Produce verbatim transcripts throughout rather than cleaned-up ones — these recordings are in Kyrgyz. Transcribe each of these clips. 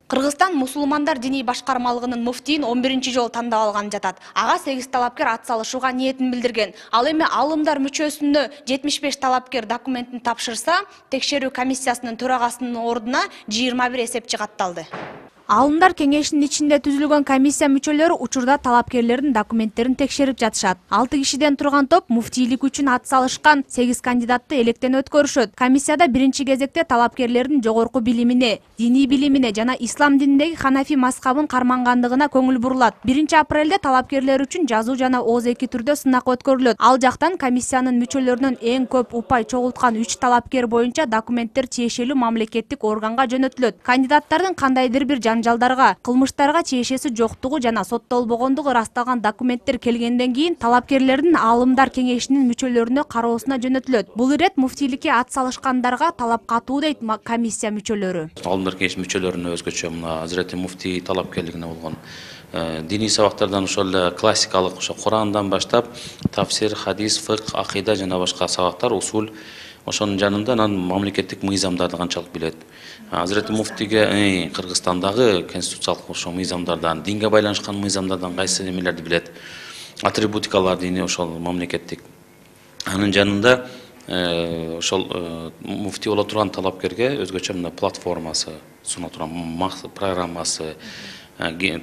Кыргызстан мусулмандар диний башкармалыгынын муфтийин он биринчи жолу тандап алган жатат. Ага сегиз талапкер ат салышууга ниетин билдирген. Ал эми алымдар мүчөсүнө жетимиш беш талапкер документин тапшырса, текшерүү комиссиясынын төрагасынын ордуна жыйырма бир эсепчи катталды. Алымдар кеңешинин ичинде түзүлгөн комиссия мүчөлөрү учурда талапкерлердин документтерин текшерип жатышат. алты кишиден турган топ муфтийлик үчүн ат салышкан сегиз кандидатты электен өткөрүшөт. Комиссияда биринчи кезекте талапкерлердин жогорку билимине, диний билимине жана ислам дининдеги ханафи мазхабын кармангандыгына көңүл бурулат. биринчи апрелде талапкерлер үчүн жазуу жана ооз эки түрдө сынак өткөрүлөт. Ал жактан комиссиянын мүчөлөрүнөн эң көп упай чогулткан үч талапкер боюнча документтер тиешелүү мамлекеттик органга жөнөтүлөт. Кандидаттардын кандайдыр бир жанжалдарга, кылмыштарга тиешеси жоктугу жана соттолбогондугу ырасталган документтер келгенден кийин талапкерлердин алымдар кеңешинин мүчөлөрүнө кароосуна жөнөтүлөт. Бул ирет муфтийликке ат салышкандарга талап катуу дейт комиссия мүчөлөрү. Алымдар кеңеш мүчөлөрүнө өзгөчө мына Азирети муфтий талапкерлигине болгон диний сабактардан ошол эле классикалык ошо Курандан баштап тафсир, хадис, фикх, акыйда жана башка сабактар, усул, ошонун жанында анан мамлекеттик мыйзамдарды канчалык билет. Азирети муфтийге Кыргызстандагы конституциялык ошо мыйзамдардан, динге байланышкан мыйзамдардан кайсы эмелерди билет, атрибутикалар дейни ошол мамлекеттик. Анын жанында ошол муфтий боло турган талапкерге өзгөчө мына платформасы суна турган программасы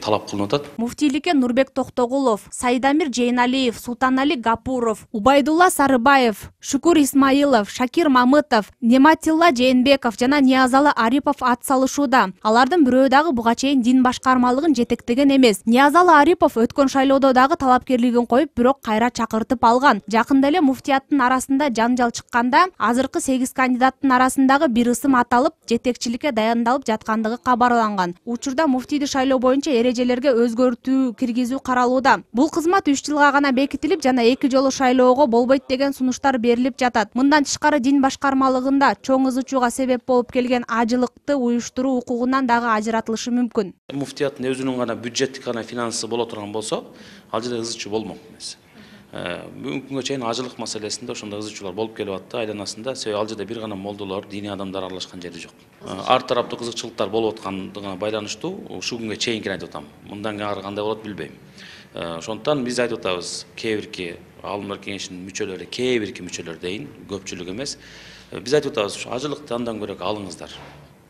талап кылынып атат. Муфтийликке Нурбек Токтогулов, Сайдамир Жейналиев, Султанали Гапуров, Убайдулла Сарыбаев, Шукур Исмаилов, Шакир Мамытов, Нематилла Жээнбеков жана Ниязалы Арипов ат салышууда. Алардын бирөө дагы буга чейин дин башкармалыгын жетектеген эмес. Ниязалы Арипов өткөн шайлоодо дагы талапкерлигин коюп, бирок кайра чакыртып алган. Жакында эле муфтияттын арасында жанжал чыкканда, азыркы сегиз кандидаттын арасындагы бир ысым аталып, жетекчиликке дайындалып жаткандыгы кабарланган. Учурда муфтийди шайлоо боюнча эрежелерге өзгөртүү киргизүү каралууда. Бул кызмат үч жылга гана бекитилип жана эки жолу шайлоого болбойт деген сунуштар берилип жатат. Мындан тышкары дин башкармалыгында чоң ызы-чууга себеп болуп келген ажылыкты уюштуруу укугунан дагы ажыратылышы мүмкүн. Муфтияттын өзүнүн гана бюджеттик гана финансы боло турган болсо, ал жерде ызы-чуу болмок эмес. Бүгүнкү күнгө чейин ажылык маселесинде ошондой ызы-чуулар болуп келип атты айланасында. Себеби ал жерде бир гана молдолор, диний адамдар аралашкан жери жок. Ар тараптуу кызыкчылыктар болуп аткандыгына байланыштуу ушул күнгө чейинкини айтып атам. Мындан ары кандай болот билбейм. Ошондуктан биз айтып атабыз, кээ бирки алымдар кеңешинин мүчөлөрү, кээ бирки мүчөлөр дейин, көпчүлүк эмес. Биз айтып атабыз, ушу ажылыкты андан көрө алыңыздар.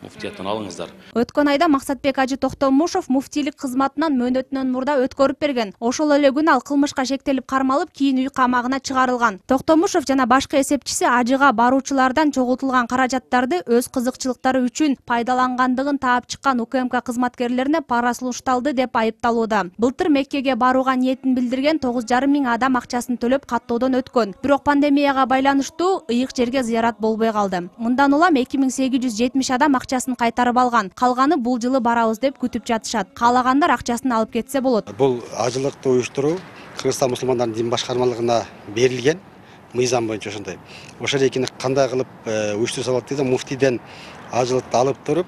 Муфтияттан алыңыздар. Өткөн айда Максатбек Ажы Токтомушов муфтийлик кызматынан мөөнөтүнөн мурда өткөрүп берген. Ошол эле күнү ал кылмышка шектелип кармалып, кийин үй камагына чыгарылган. Токтомушов жана башкы эсепчиси Ажыга баруучулардан чогултулган каражаттарды өз кызыкчылыктары үчүн пайдалангандыгын таап чыккан УКМК кызматкерлерине пара сунушталды деп айыпталууда. Былтыр Меккеге барууга ниетин билдирген тогуз жарым миң адам акчасын төлөп каттоодон өткөн. Бирок пандемияга байланыштуу ыйык жерге зыярат болбой калды. Мындан улам эки миң сегиз жүз жетимиш адам акчасын кайтарып алган. Калганы бул жылы барабыз деп күтүп жатышат. Каалагандар акчасын алып кетсе болот. Бул ажылыкты уюштуруу Кыргызстан мусулмандарынын дин башкармалыгына берилген мыйзам боюнча ошондой. Ошол экини кандай кылып уюштурса болот дейт, муфтийден ажылыкты алып туруп,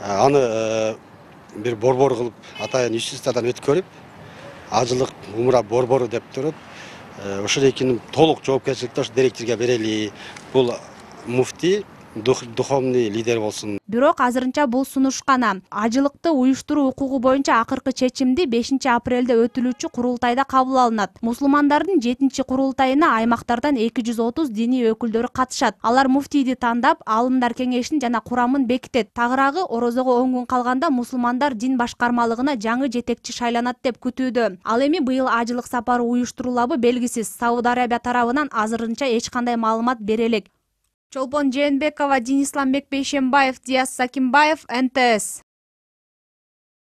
аны бир борбор кылып, атайын юстициядан өткөрүп, ажылык умура борбору деп туруп, ошол экинин толук жоопкерчиликти ошо директорго берели. Бул муфтий духовный лидер болсун. Бирок азырынча бул сунуш гана. Ажылыкты уюштуруу укугу боюнча акыркы чечимди бешинчи апрелде өтүлүүчү курултайда кабыл алынат. Мусулмандардын жетинчи курултайына аймактардан эки жүз отуз диний өкүлдөрү катышат. Алар муфтийди тандап, алымдар кеңешин жана курамын бекитет. Тагыраагы орозого он күн калганда мусулмандар дин башкармалыгына жаңы жетекчи шайланат деп күтүүдө. Ал эми быйыл ажылык сапары уюштурулабы белгисиз. Сауд Арабия тарабынан азырынча эч кандай маалымат бере элек. Чолпон Жээнбекова, Денис Ламбек Бейшембаев, Диас Сакимбаев, эн тэ эс.